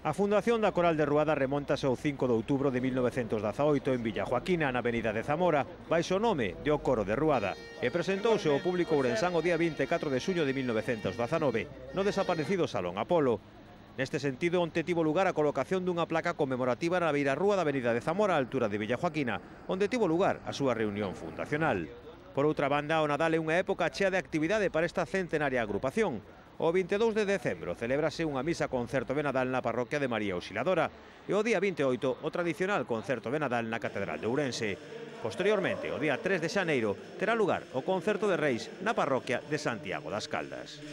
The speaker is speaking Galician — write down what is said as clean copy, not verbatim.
A fundación da Coral de Ruada remontase ao 5 de outubro de 1918 en Villajoaquina, na avenida de Zamora, baixo o nome de O Coro de Ruada, e presentouse ao público ourensán o día 24 de xuño de 1919, no desaparecido Salón Apolo. Neste sentido, onte tivo lugar a colocación dunha placa conmemorativa na beirarrúa da avenida de Zamora, á altura de Villajoaquina, onde tivo lugar a súa reunión fundacional. Por outra banda, o Nadal é unha época chea de actividade para esta centenaria agrupación. O 22 de decembro celébrase unha misa concerto de Nadal na parroquia de María Auxiliadora e o día 28 o tradicional concerto de Nadal na Catedral de Ourense. Posteriormente, o día 3 de xaneiro, terá lugar o concerto de Reis na parroquia de Santiago das Caldas.